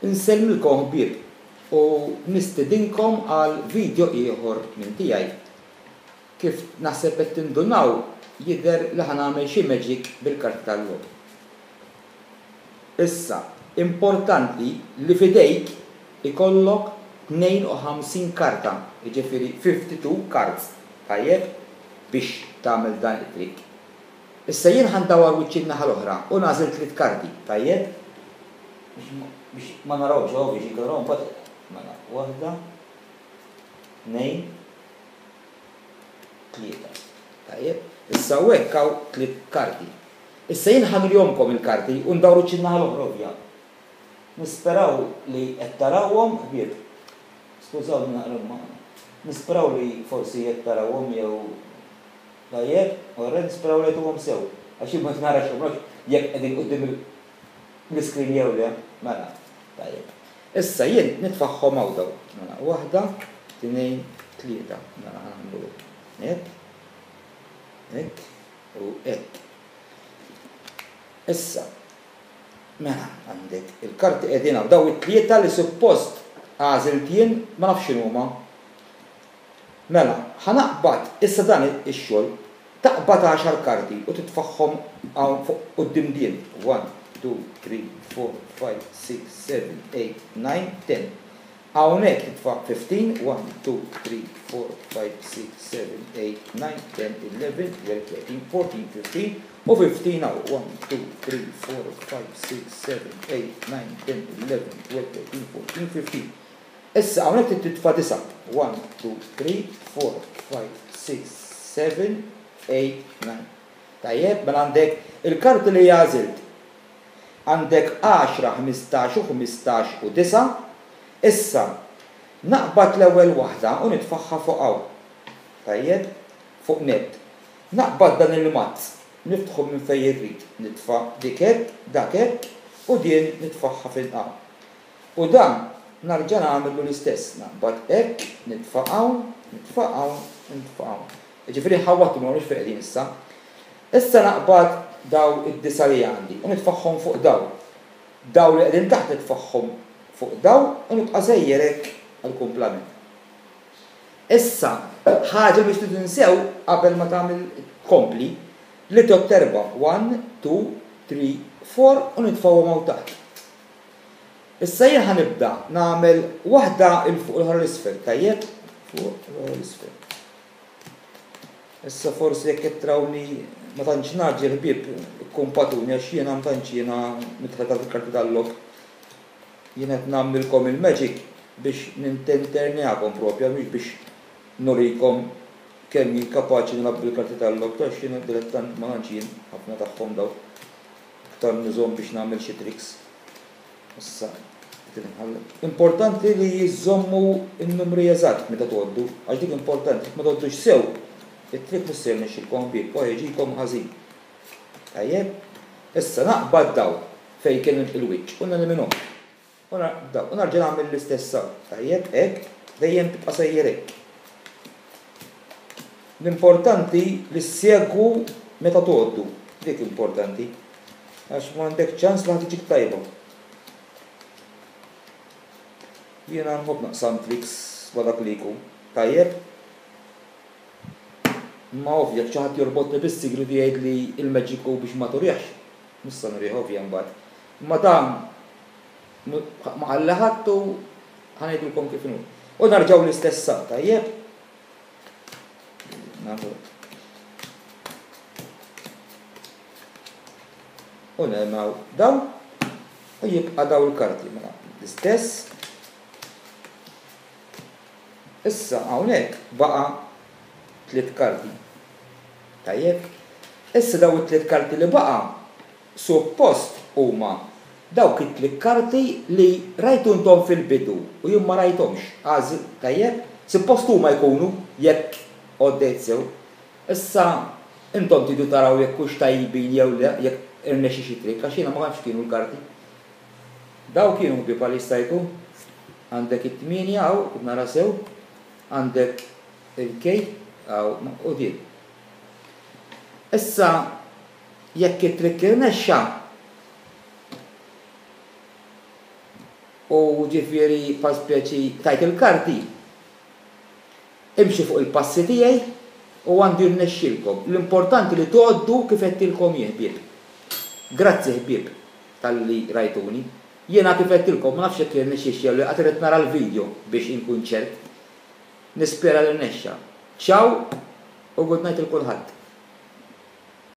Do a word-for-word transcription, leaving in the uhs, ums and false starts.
Insellmilkom ħbieb u nistedinkom għal video ieħor minn tiegħi. Kif naħseb qed tindunaw, jidher li ħa nagħmel xi magic bil-karti tal-logħob. Issa, importanti li f'idejk ikollok tnejn u ħamsin karta, jiġifieri fifty-two cards, tajjeb, biex tagħmel dan it-trick. Issa jien ħa ndawwar wiċċi n-naħa l-oħra u nagħżel tliet karti, tajjeb? Biex ma narawx, ovvju, xi naraw mbagħad. Mela, waħda, tnejn, tlieta. Tajjeb? Issa hekk hawn tliet karti. Issa jien ħa nurihomlkom il-karti u ndawru wiċċi n-naħa l-oħra, ovvja. Nisperaw li qed tarawhom, ħbieb. Skużawni naqra ma. Nisperaw li forsi qed tarawhom jew tajjeb, u nisperaw li qed sew. Għax jien ma narax jekk qegħdin quddiem l-iskrin jew le. Mela, tajjeb. Issa jien nitfagħhom hawn daw. Mela, waħda, tnejn, tlieta. Mela ħa nagħmlu hekk, hekk u hekk. Issa, mela, għandek il-karti qegħdin hawn. Daw it-tlieta li suppost għażilt jien, ma nafx x'inhuma. Mela, ħa naqbad issa dan ix-xogħol, taqbad għaxar karti u titfagħhom hawn fuq quddiem din. one, two, three, four, five, six, seven, eight, nine, ten. Hawnhekk titfa' fifteen, one, two, three, four, five, six, seven, eight, nine, ten, eleven, twelve, thirteen, fourteen, fifteen u fifteen hawn. one, two, three, four, five, six, seven, eight, nine, ten, eleven, twelve, thirteen, fourteen, fifteen. Issa hawnhekk titfa' disa'. one, two, three, four, five, six, seven, eight, nine. Tajjeb, mela għandek il-karti li għażilt. Għandek għaxra, ħmistax u ħmistax u disa'. Issa, naqbad l-ewwel waħda u nitfagħha fuq hawn. Tajjeb, fuq net. Naqbad dan il-mazz, niftħu minn fejn irrid, nitfa' dik hekk, dak hekk, u din nitfagħha fil-qaw. U dan narġa' nagħmlu l-istess, naqbad hekk, nitfa' hawn, nitfa' hawn, nitfa' hawn. Ġifieri ħawwadtu, ma nafx fejn qegħdin issa. Issa naqbad daw id-disa li għandi u nitfagħhom fuq daw. Daw li qegħdin taħt nitfagħhom fuq daw u nibqa' sejjer hekk għall-kumplament. Issa, ħaġa biex tinsew qabel ma tagħmel kompli, li tgħodd erba', one, two, three, four u nitfgħuhom hawn taħt. Issa jien ħa nibda nagħmel waħda 'l fuq, l-oħra l-isfel, tajjeb? Fuq, l-oħra l-isfel. Issa forsi jekk qed trawni ma tantx ngħaġġel, ħbieb, ikkumpatuni għax jiena ma tantx jiena midħla fil-karti tal-logħob. Jien qed nagħmlilkom il-magic biex nintenternijakom propja, mhux biex nurikom kemm jien kapaċi nilgħab bil-karti tal-logħob, għax jiena dilettant ma tantx jien ħafna tagħhom daw. Iktar nużhom biex nagħmel xi tricks. Issa, importanti li jiżommu n-numri eżatt meta tgħoddu, għax dik importanti, ma tgħoddux sew, it-trick mhux se jirnexxilkom ħbieb, u jiġikom ħażin. Tajjeb, issa naqbad daw fejn kien il-wiċċ u neliminhom. U narġa' nagħmel l-istess hawn. Tajjeb, hekk, dejjem tibqa' sejjer hekk. L-importanti li ssegwu meta tgħoddu, dik importanti, għax m'għandek ċans li ħa tiġik tajba. Jiena nħobb naqsam tricks ma' dak li jkun. Tajjeb? Ma ovvja, xi ħadd jorbotni bis-sigriet u jgħid li il-magic hu biex ma turihx. Nista' nurih ovvja mbagħad. Imma dan ma qal ħadd u ħa ngħidulkom kif inhu. U narġgħu l-istess sa, tajjeb? Nagħmlu. U nagħmlu daw u jibqa' daw il-karti mela l-istess. Issa hawnhekk baqa' tliet karti. Tajjeb? Issa daw it-tliet karti li baqa' suppost huma dawk it-tliet karti li rajtu intom fil-bidu u jien ma rajthomx. Għażil, tajjeb? Suppost huma jkunu jekk għoddejt sew. Issa intom tridu taraw jekk hux tajbin jew le, jekk irnexxi xi trick, għax jiena ma nafx kienu l-karti. Daw kienu ħbieb għal jista' jkun. Għandek it-tmienja hawn, nara sew, għandek il-K hawn u din. Issa jekk it-trick irnexxa, U ġifieri pa speċi tajt il-karti, imxi fuq il-passi tiegħi u għandu jirnexxilkom. L-importanti li tgħoddu kif għedtilkom jien, ħbieb. Grazzi, ħbieb, talli rajtuni. Jiena kif għedtilkom, ma nafx jekk jirnexxix jew li għad irrid nara l-video biex inkun ċert. Nispera li rnexxa. Ciao u good night il kulħadd.